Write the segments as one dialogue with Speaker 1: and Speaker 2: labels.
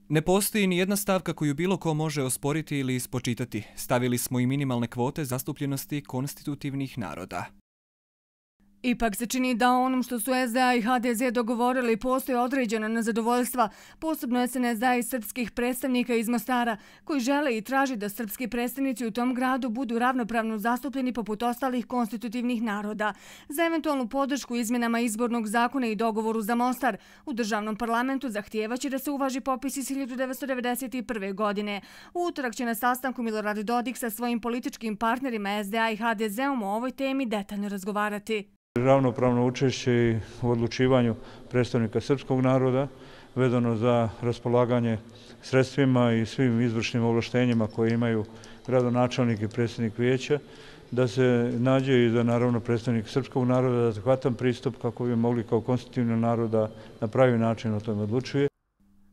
Speaker 1: Ne postoji ni jedna stavka koju bilo ko može osporiti ili spočitati. Stavili smo i minimalne kvote zastupljenosti konstitutivnih naroda.
Speaker 2: Ipak se čini da onom što su SDA i HDZ dogovorili postoje određena nezadovoljstva, posebno SNSD i srpskih predstavnika iz Mostara, koji žele i traži da srpski predstavnici u tom gradu budu ravnopravno zastupljeni poput ostalih konstitutivnih naroda. Za eventualnu podršku izmjenama izbornog zakona i dogovoru za Mostar u državnom parlamentu zahtijevaće da se uvaži popis iz 1991. godine. U utorak će na sastanku Milorad Dodik sa svojim političkim partnerima SDA i HDZ-om o ovoj temi detaljno razgovarati.
Speaker 3: Ravnopravno učešće u odlučivanju predstavnika srpskog naroda vezano za raspolaganje sredstvima i svim izvršnim ovlaštenjima koje imaju gradonačelnik i predsjednik vijeća, da se nađe i da naravno predstavnik srpskog naroda da adekvatan pristup kako bi mogli kao konstitutivni narod da na pravi način o tome odlučuje.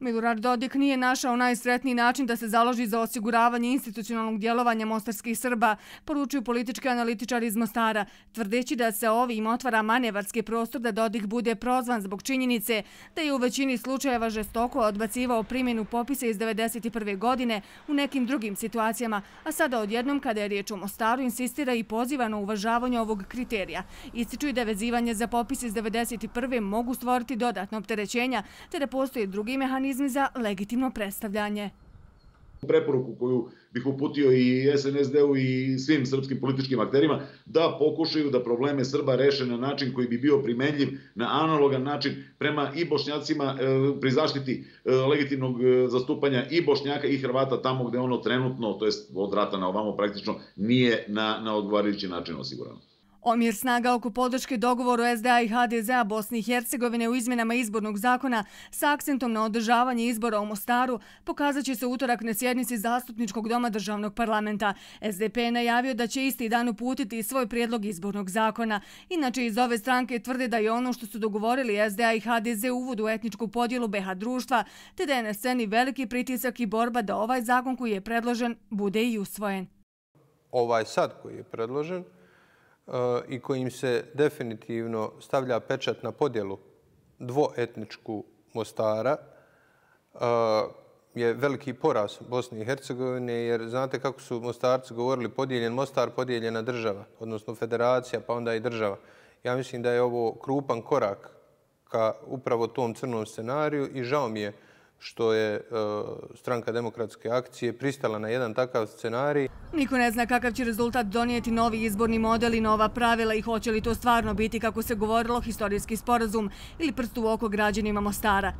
Speaker 2: Milorad Dodik nije našao najsretniji način da se založi za osiguravanje institucionalnog djelovanja mostarskih Srba, poručuju politički analitičari iz Mostara, tvrdeći da se ovim otvara manevarski prostor da Dodik bude prozvan zbog činjenice da je u većini slučajeva žestoko odbacivao primjenu popisa iz 1991. godine u nekim drugim situacijama, a sada odjednom kada je riječ o Mostaru insistira i poziva na uvažavanje ovog kriterija. Ističu i da vezivanje za popis iz 1991. mogu stvoriti dodatno opterećenja, te da postoje drugi mehanizmi za legitimno predstavljanje.
Speaker 4: Preporuku koju bih uputio i SNSD-u i svim srpskim političkim akterima da pokušaju da probleme Srba reše na način koji bi bio primenljiv na analogan način prema i Bošnjacima pri zaštiti legitimnog zastupanja i Bošnjaka i Hrvata tamo gde ono trenutno, to jest od rata na ovamo praktično, nije na odgovarajući način osigurano.
Speaker 2: Omjer snaga oko podrške dogovoru SDA i HDZ-a Bosne i Hercegovine u izmjenama izbornog zakona sa akcentom na održavanje izbora u Mostaru pokazat će se utorak na sjednici Zastupničkog doma državnog parlamenta. SDP je najavio da će isti dan uputiti svoj prijedlog izbornog zakona. Inače, iz ove stranke tvrde da je ono što su dogovorili SDA i HDZ uvod u etničku podjelu BiH društva, te da je na sceni veliki pritisak i borba da ovaj zakon koji je predložen bude i usvojen.
Speaker 5: Ovaj sad koji je predložen i kojim se definitivno stavlja pečat na podjelu dvoetničku Mostara je veliki poraz Bosne i Hercegovine, jer znate kako su Mostarci govorili, podijeljen Mostar, podijeljena država, odnosno federacija, pa onda i država. Ja mislim da je ovo krupan korak ka upravo tom crnom scenariju i žao mi je što je Stranka demokratske akcije pristala na jedan takav scenarij.
Speaker 2: Niko ne zna kakav će rezultat donijeti novi izborni model i nova pravila i hoće li to stvarno biti, kako se govorilo, historijski sporazum ili prst u oko građanima Mostara.